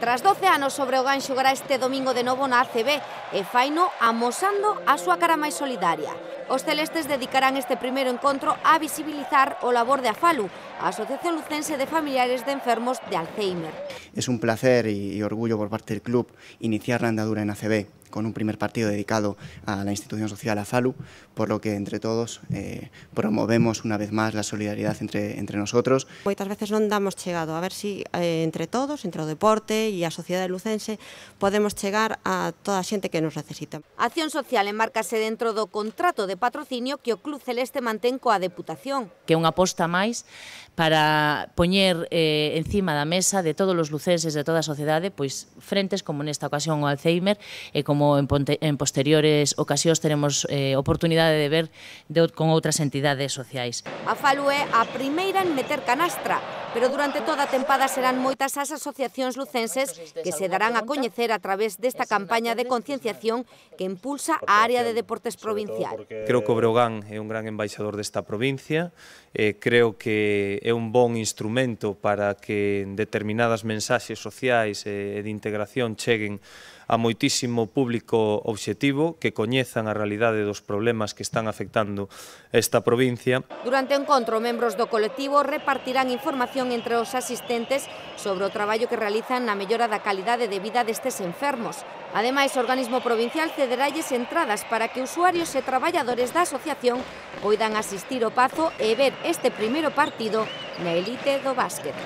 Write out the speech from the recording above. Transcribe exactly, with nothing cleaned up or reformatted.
Tras doce anos, o Breogán xogará este domingo de novo na A C B e faino amosando a súa cara máis solidaria. Os celestes dedicarán este primeiro encontro a visibilizar o labor de AFALU, a Asociación Lucense de Familiares de Enfermos de Alzheimer. Es un placer y orgullo por parte del club iniciar la andadura en A C B con un primer partido dedicado a la institución social AFALU, por lo que entre todos eh, promovemos una vez más la solidaridad entre, entre nosotros. Moitas veces non damos chegado, a ver si eh, entre todos, entre o deporte e a sociedade lucense, podemos chegar a toda a xente que nos necesita. A acción social enmárcase dentro do contrato de patrocinio que o Club Celeste mantén coa Deputación. Que é unha aposta máis para poñer eh, encima da mesa de todos os lucenses de toda a sociedade pois frentes como nesta ocasión o Alzheimer e como en, en posteriores ocasións teremos eh, oportunidade de ver de, con outras entidades sociais. AFALU é a primeira en meter canastra, pero durante toda a tempada serán moitas as asociacións lucenses que se darán a coñecer a través desta campaña de concienciación que impulsa a área de deportes provincial. Creo que o Breogán é un gran embaixador desta provincia, eh, creo que é un bon instrumento para que determinadas mensaxes sociais e de integración cheguen a moitísimo público obxectivo que coñezan a realidade dos problemas que están afectando esta provincia. Durante o encontro, membros do colectivo repartirán información entre os asistentes sobre o traballo que realizan na mellora da calidade de vida destes enfermos. Ademais, o organismo provincial cederalles entradas para que usuarios e traballadores da asociación poidan asistir ao Pazo e ver este primeiro partido na elite do básquet.